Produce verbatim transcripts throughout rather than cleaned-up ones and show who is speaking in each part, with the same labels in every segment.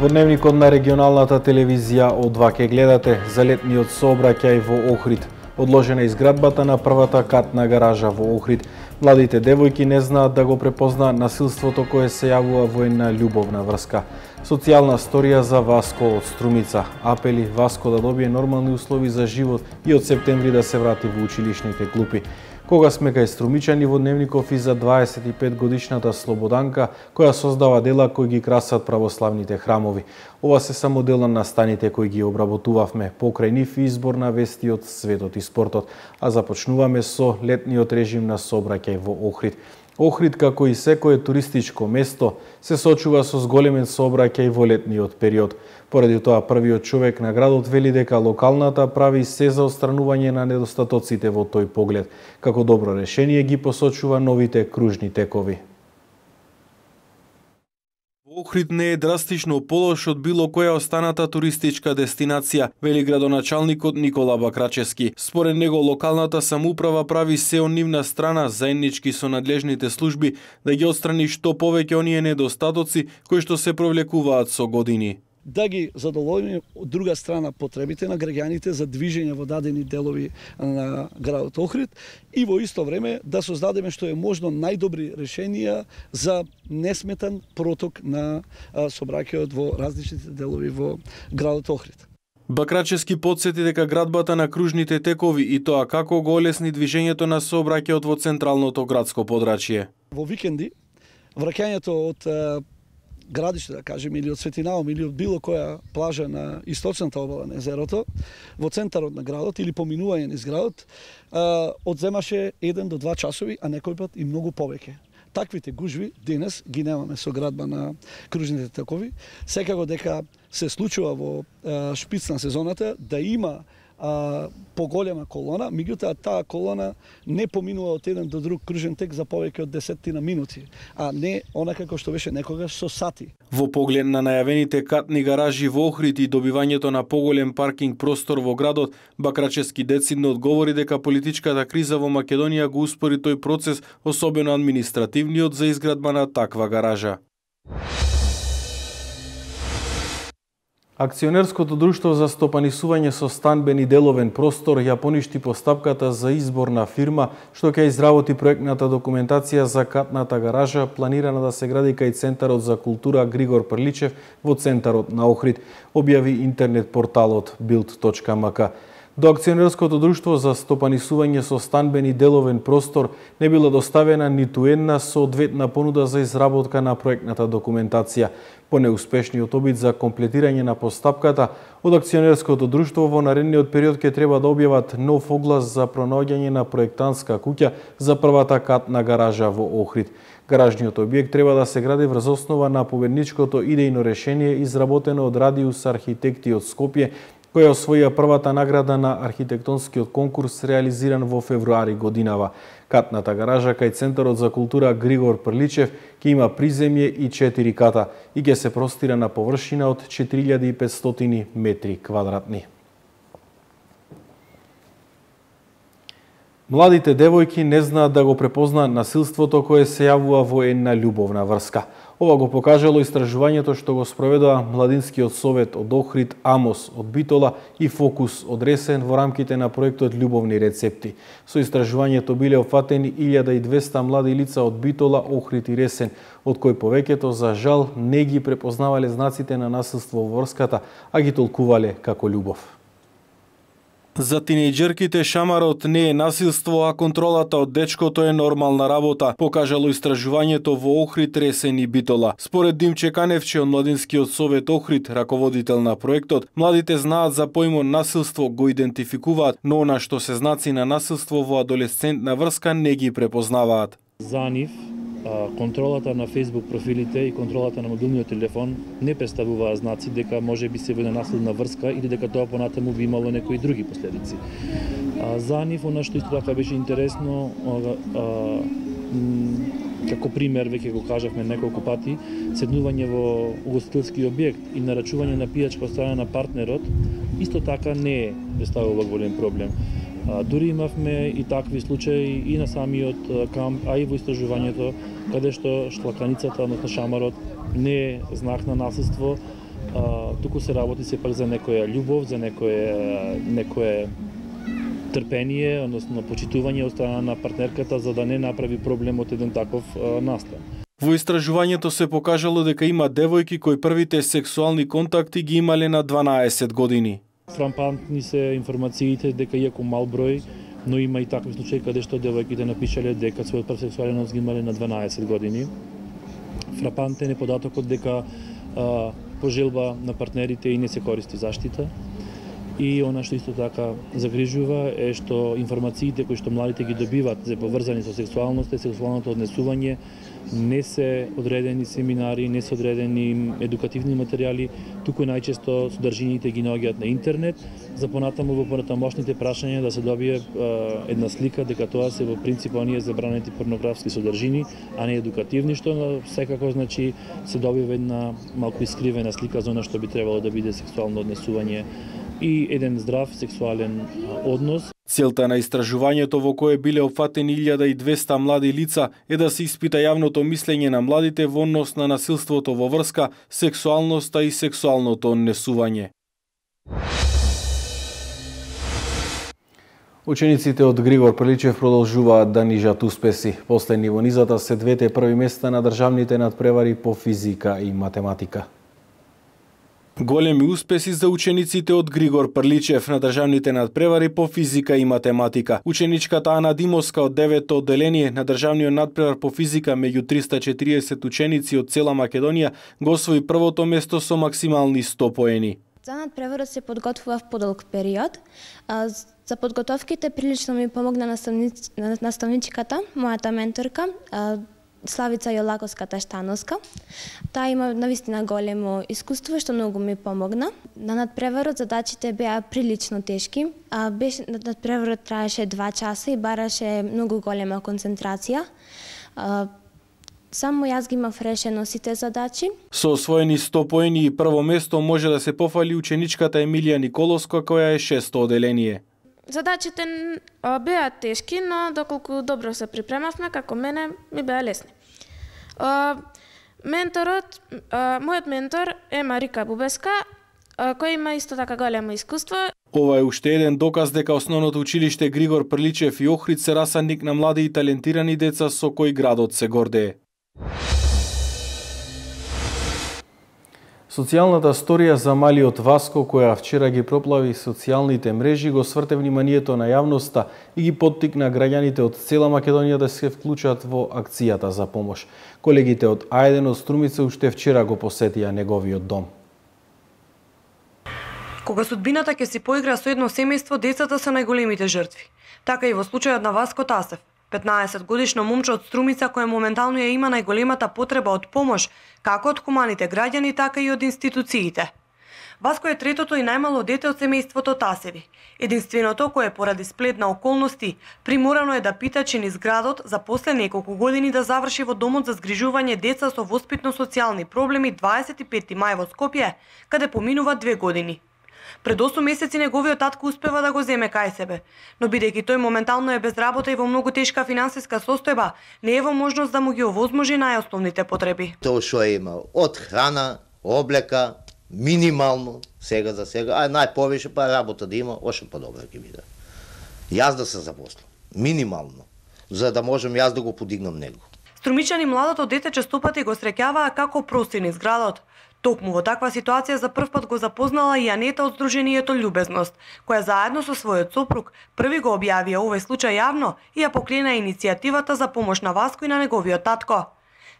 Speaker 1: Во дневникот на регионалната телевизија од два ке гледате за летниот сообраќај во Охрид. Одложена изградбата на првата катна гаража во Охрид. Младите девојки не знаат да го препознаат насилството кое се јавува во една љубовна врска. Социјална сторија за Васко од Струмица. Апели Васко да добие нормални услови за живот и од септември да се врати во училишните клупи. Кога сме кај струмичани во дневников и за дваесет и пет годишната Слободанка, која создава дела кои ги красат православните храмови. Ова се само дел на настаните кои ги обработувавме покрај нив избор на вести од светот и спортот, а започнуваме со летниот режим на сообраќај во Охрид. Охрид, како и секое туристичко место, се сочува со зголемен сообраќај во летниот период. Поради тоа, првиот човек на градот вели дека локалната прави се за отстранување на недостатоците во тој поглед. Како добро решение ги посочува новите кружни текови. Охрид не е драстично полош од било која останата туристичка дестинација, вели градоначалникот Никола Бакрачески. Според него, локалната самоуправа прави се од нивна страна, заеднички со надлежните служби, да ги отстрани што повеќе оние недостатоци кои што се провлекуваат со години.
Speaker 2: Да ги задоволиме од друга страна потребите на граѓаните за движење во дадени делови на градот Охрид и во исто време да создадеме што е можно најдобри решенија за несметан проток на сообраќајот во различните делови во градот Охрид.
Speaker 1: Бакрачески потсети дека градбата на кружните текови и тоа како го олесни движењето на сообраќајот во централното градско подрачје.
Speaker 2: Во викенди враќањето од градиште, да кажем, или од Светинаум, или од било која плажа на источната обала на езерото, во центарот на градот или поминување низ градот, одземаше еден до два часови, а некој пат и многу повеќе. Таквите гужви денес ги немаме со градба на кружните текови. Секако дека се случува во шпиц на сезоната да има а, поголема колона, меѓутоа таа колона не поминува од еден до друг кружен тек за повеќе од десетина минути, а не онака како што беше некогаш со сати.
Speaker 1: Во поглед на најавените катни гаражи во Охрид и добивањето на поголем паркинг простор во градот, Бакрачески децидно одговори дека политичката криза во Македонија го успори тој процес, особено административниот за изградба на таква гаража. Акционерското друштво за стопанисување со станбен и деловен простор ја поништи постапката за избор на фирма што ќе изработи проектната документација за катната гаража планирана да се гради кај Центарот за култура Григор Прличев во центарот на Охрид, објави интернет порталот билд точка ем ка. До акционерското друштво за стопанисување со станбен и деловен простор не била доставена ниту една соодветна понуда за изработка на проектната документација. По неуспешниот обид за комплетирање на постапката, од акционерското друштво во наредниот период ќе треба да објават нов оглас за пронаоѓање на проектантска куќа за првата катна гаража во Охрид. Гаражниот објект треба да се гради врз основа на победничкото идејно решение изработено од Радиус архитекти од Скопје, која освоија првата награда на архитектонскиот конкурс реализиран во февруари годинава. Катната гаража кај Центарот за култура Григор Прличев ќе има приземје и четири ката и ќе се простира на површина од четири илјади и петстотини метри квадратни. Младите девојки не знаат да го препознаат насилството кое се јавува во една љубовна врска. Ова го покажало истражувањето што го спроведува Младинскиот совет од Охрид, Амос од Битола и Фокус од Ресен во рамките на проектот Љубовни рецепти. Со истражувањето биле опфатени илјада и двесте млади лица од Битола, Охрид и Ресен, од кои повеќето за жал не ги препознавале знаците на насилство во врската, а ги толкувале како љубов. За тинејџерките шамарот не е насилство, а контролата од дечкото е нормална работа, покажало истражувањето во Охрид, Ресен и Битола. Според Димче Каневче од Младинскиот совет Охрид, раководител на проектот, младите знаат за поимот насилство, го идентификуваат, но она што се знаци на насилство во адолесцентна врска не ги препознаваат.
Speaker 3: За нив контролата на Facebook профилите и контролата на мобилниот телефон не представуваа знаци дека може би се во насилна врска или дека тоа понатаму би имало некои други последици. За нив, она што исто така беше интересно, како пример, веќе го кажавме неколку пати, седнување во угостителски објект и нарачување на пијачка од страна на партнерот, исто така не представува голем проблем. Дури имавме и такви случаи и на самиот камп, а и во истражувањето, каде што шлаканицата, односно шамарот, не е знак на насилство, туку се работи сепак за некоја љубов, за некое некое трпение, односно почитување од страна на партнерката за да не направи проблем од еден таков настан.
Speaker 1: Во истражувањето се покажало дека има девојки кои првите сексуални контакти ги имале на дванаесет години.
Speaker 3: Фрапантни се информациите дека иако мал број, но има и такви случаи каде што девојките напишале дека својот прв сексуален однос ги имале на дванаесет години. Фрапантен е податокот дека а, по желба на партнерите и не се користи заштита. И она што исто така загрижува е што информациите кои што младите ги добиваат за поврзани со сексуалноста и сексуалното однесување не се одредени семинари, не се одредени едукативни материјали, туку најчесто содржините ги наоѓаат на интернет, за понатаму во понатамошните прашања да се добие е, една слика дека тоа се во принцип оние забранети порнографски содржини, а не едукативни, што секако значи се добива една малку искривена слика за она што би требало да биде сексуално однесување и еден здрав сексуален однос.
Speaker 1: Целта на истражувањето во кое биле опфатени илјада и двесте млади лица е да се испита јавното мислење на младите во однос на насилството во врска, сексуалноста и сексуалното однесување. Учениците од Григор Прличев продолжуваат да нижат успеси. Последни во низата се двете први места на државните надпревари по физика и математика. Големи успеси за учениците од Григор Прличев на државните надпревари по физика и математика. Ученичката Ана Димовска од девето одделение на државниот надпревар по физика меѓу триста и четириесет ученици од цела Македонија го освои првото место со максимални сто поени.
Speaker 4: За надпреварот се подготвував подолг период. За подготовките прилично ми помогна наставниц... наставничката, мојата менторка, Славица Јолаковска-Таштановска. Таа има навистина големо искуство што многу ми помогна. На надпреварот задачите беа прилично тешки. А беше надпреварот траеше два часа и бараше многу голема концентрација. А, само јас ги имав решено сите задачи.
Speaker 1: Со освоени сто поени и прво место може да се пофали ученичката Емилија Николовска која е шесто одделение.
Speaker 5: Задачите беа тешки, но доколку добро се припремавме, како мене, ми беа лесни. Менторот, мојот ментор е Марика Бубеска, која има исто така големо искуство.
Speaker 1: Ова е уште еден доказ дека основното училиште Григор Прличев и Охрид се расадник на млади и талентирани деца со кои градот се гордее. Социјалната сторија за малиот Васко, која вчера ги проплави социјалните мрежи, го сврте вниманието на јавноста и ги поттикна граѓаните од цела Македонија да се вклучат во акцијата за помош. Колегите од А еден од Струмица уште вчера го посетија неговиот дом.
Speaker 6: Кога судбината ќе си поигра со едно семејство, децата се најголемите жртви. Така и во случајот на Васко Тасев, петнаесет годишно момче од Струмица кој моментално ја има најголемата потреба од помош, како од хуманите граѓани, така и од институциите. Васко е третото и најмало дете од семејството Тасеви. Единственото кое поради сплет на околности приморано е да питачи низ градот за после неколку години да заврши во домот за згрижување деца со воспитно-социјални проблеми дваесет и петти мај во Скопје, каде поминува две години. Пред осум месеци неговиот татко успева да го земе кај себе, но бидејќи тој моментално е без работа и во многу тешка финансиска состојба, не е во можност да му ги овозможи најосновните потреби.
Speaker 7: Тоа што е имал од храна, облека, минимално, сега за сега, а најповише па работа да има, още подобро ќе биде. Јас да се запослам, минимално, за да можам јас да го подигнам него.
Speaker 6: Струмичани младото дете честопати го среќаваа како прости низ градот. Токму во таква ситуација за прв пат го запознала и Анета од Сдруженијето Љубезност, која заедно со својот сопруг први го објавија овој случај јавно и ја поклена иницијативата за помош на Васко и на неговиот татко.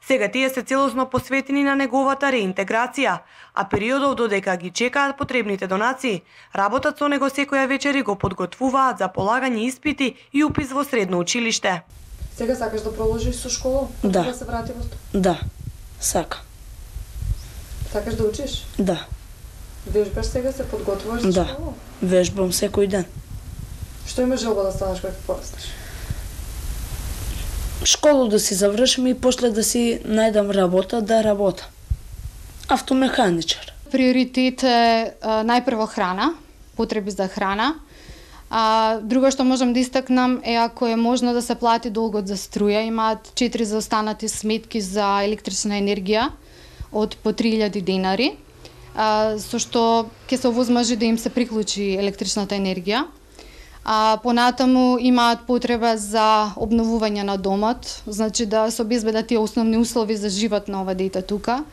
Speaker 6: Сега тие се целосно посветени на неговата реинтеграција, а периодов додека ги чекаат потребните донации, работат со него секоја вечер и го подготвуваат за полагање испити и упис во средно училиште.
Speaker 8: Сега сакаш да продолжиш со школа?
Speaker 9: Да.
Speaker 8: Да се врати во тоа?
Speaker 9: Да, сакам.
Speaker 8: Сакаш да учиш?
Speaker 9: Да.
Speaker 8: Вежбаш сега, се подготвуваш за
Speaker 9: Да,
Speaker 8: школа?
Speaker 9: вежбам секој ден.
Speaker 8: Што имаш желба да станеш кога ќе пораснеш?
Speaker 9: Школу да си завршим и после да си најдам работа, да работам. Автомеханичар.
Speaker 10: Приоритет е најпрво храна, потреби за храна. А, друго што можам да истакнам е ако е можно да се плати долгот за струја. Имаат четири заостанати сметки за електрична енергија од по три илјади денари. со што ќе се овозможи да им се приклучи електричната енергија. А, понатаму имаат потреба за обновување на домот, значи да се обезбедат тие основни услови за живот на ова дете тука.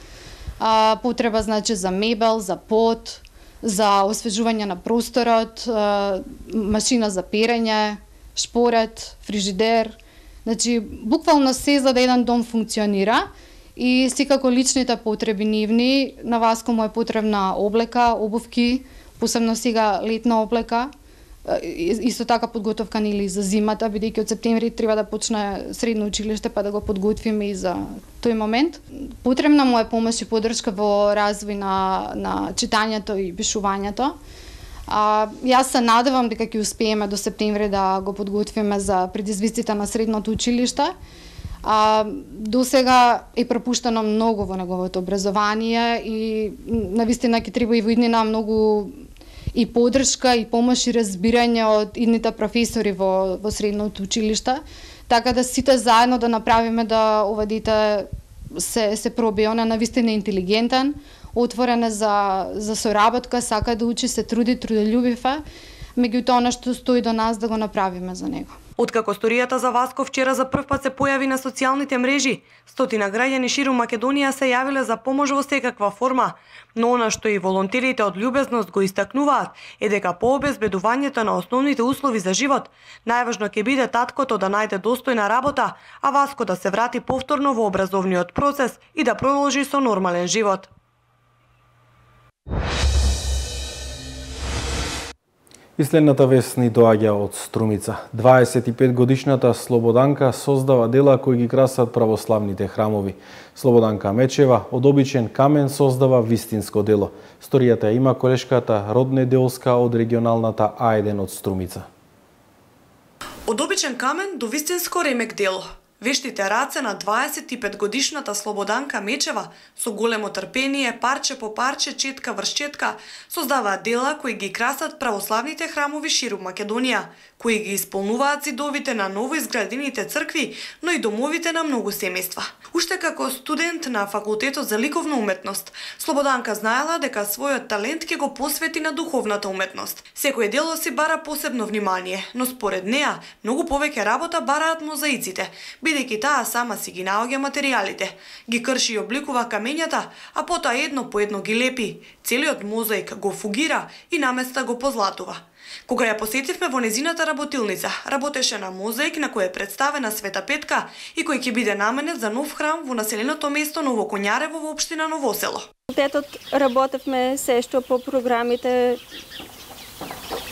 Speaker 10: А, потреба значи за мебел, за под, за освежување на просторот, а, машина за перење, шпорет, фрижидер. Значи буквално се за да еден дом функционира и секако личните потреби нивни. На Васко му е потребна облека, обувки, посебно сега летна облека. Исто така подготовка нели за зимата, бидејќи од септември треба да почне средно училиште, па да го подготвиме и за тој момент. Потребна му е помош и поддршка во развој на, на читањето и пишувањето. А, јас се надевам дека ќе успееме до септември да го подготвиме за предизвиците на средното училиште. А, до сега е пропуштено многу во неговото образование и навистина ќе треба и во иднина многу и поддршка, и помош и разбирање од идните професори во, во средното училиште, така да сите заедно да направиме да ова дете се, се проби. Он е навистина интелигентен, отворен е за, за соработка, сака да учи, се труди, трудолюбив е, меѓутоа она што стои до нас да го направиме за него.
Speaker 6: Откако историјата за Васко вчера за прв пат се појави на социјалните мрежи, стотина граѓани ширум Македонија се јавиле за помош во секаква форма, но она што и волонтерите од љубезност го истакнуваат е дека по обезбедувањето на основните услови за живот, најважно ќе биде таткото да најде достојна работа, а Васко да се врати повторно во образовниот процес и да продолжи со нормален живот.
Speaker 1: И следната вест ни доаѓа од Струмица. дваесет и пет годишната Слободанка создава дела кои ги красат православните храмови. Слободанка Мечева од обичен камен создава вистинско дело. Сторијата има колешката Родне Делска од регионалната А еден од Струмица.
Speaker 6: Од обичен камен до вистинско ремек дело. Вештите раце на дваесет и пет годишната Слободанка Мечева со големо трпение, парче по парче, четка врз четка, создаваат дела кои ги красат православните храмови ширум Македонија, кои ги исполнуваат зидовите на новоизградените цркви, но и домовите на многу семејства. Уште како студент на факултетот за ликовна уметност, Слободанка знаела дека својот талент ќе го посвети на духовната уметност. Секој дело си бара посебно внимание, но според неа многу повеќе работа бараат мозаиците, бидејќи таа сама си ги наоѓа материјалите, ги крши и обликува камењата, а потоа едно по едно ги лепи. Целиот мозаик го фугира и наместа го позлатува. Кога ја посетивме во незината работилница, работеше на мозаик на кој е представена Света Петка и кој ќе биде наменет за нов храм во населеното место Ново Коњарево во општина Ново Село.
Speaker 11: Факултетот работевме се што по програмите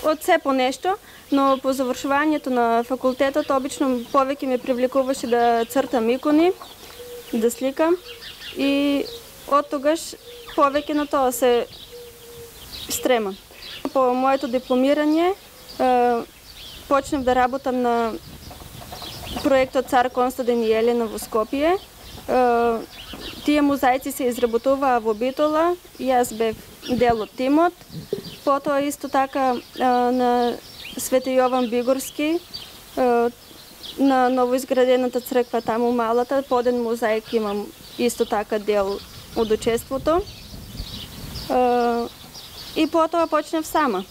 Speaker 11: од се по нешто, но по завршувањето на факултетот обично повеќе ме привлекуваше да цртам икони, да сликам и од тогаш повеќе на тоа се стремам. По моето дипломирање почнав да работам на проектот Цар Константин и Елена во Скопје. Тие мозаици се изработуваа во Битола, јас бев дел од тимот. Потоа исто така на Свети Јован Бигорски, на новоизградената црква таму малата, по еден мозаик имам исто така дел од учеството. И потоа почнав сама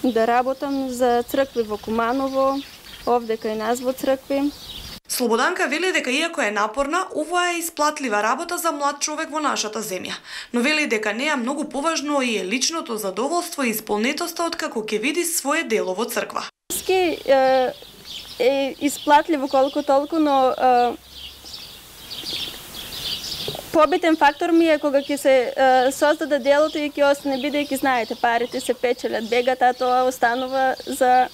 Speaker 11: да работам за цркви во Куманово, овде кај нас во цркви.
Speaker 6: Слободанка вели дека иако е напорна, ова е исплатлива работа за млад човек во нашата земја, но вели дека неа многу поважно и е личното задоволство и исполнетоста од како ќе види свое дело во црква.
Speaker 11: Ски е, е исплатливо колку толку, но е, побитен фактор ми е кога ќе се е, создаде делото и ќе остане, бидејќи знаете, парите се печелат, бегат, а тоа останува за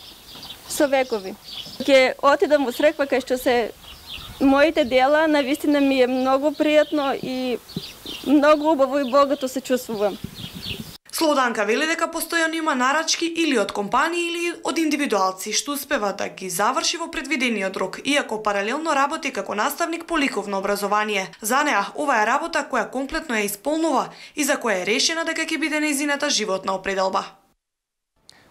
Speaker 11: со векови. Ќе отидам во црква кај што се моите дела, навистина ми е многу пријатно и многу убаво и богато се чувствувам.
Speaker 6: Слободанка вели дека постојано има нарачки или од компании или од индивидуалци што успева да ги заврши во предвидениот рок, иако паралелно работи како наставник по ликовно образование. За неа ова е работа која комплетно ја исполнува и за која е решена дека ќе биде нејзината животна определба.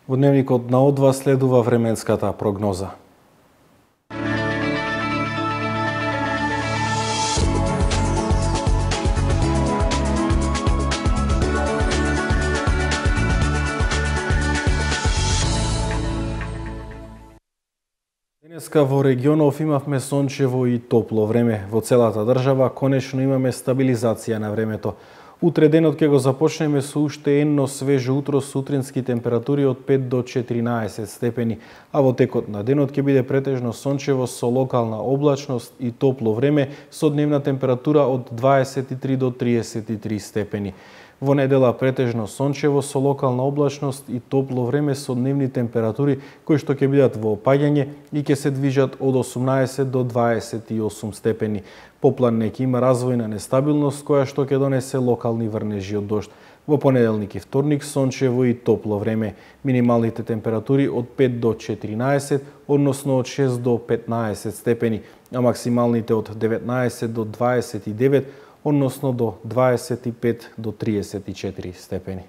Speaker 1: Во дневникот на Одва следува временската прогноза. Денеска во регионов имавме сончево и топло време. Во целата држава конечно имаме стабилизација на времето. Утре денот ќе го започнеме со уште енно свежо утро, сутрински температури од пет до четиринаесет степени, а во текот на денот ќе биде претежно сончево со локална облачност и топло време со дневна температура од дваесет и три до триесет и три степени. Во недела претежно сончево со локална облачност и топло време со дневни температури кои што ќе бидат во опаѓање и ќе се движат од осумнаесет до дваесет и осум степени. Поплан ќе има развојна нестабилност која што ќе донесе локални врнежи од дожд. Во понеделник и вторник сончево и топло време. Минималните температури од пет до четиринаесет, односно од шест до петнаесет степени, а максималните од деветнаесет до дваесет и девет, односно до дваесет и пет до триесет и четири степени.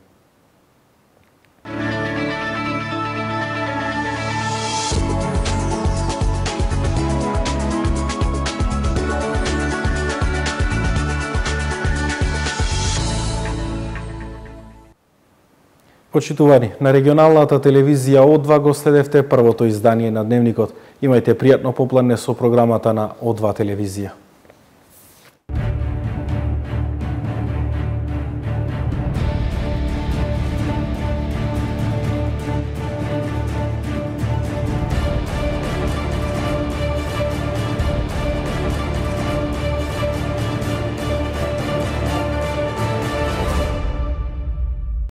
Speaker 1: Почитувани, на регионалната телевизија О два го следевте првото издание на Дневникот. Имајте пријатно попладне со програмата на О два телевизија.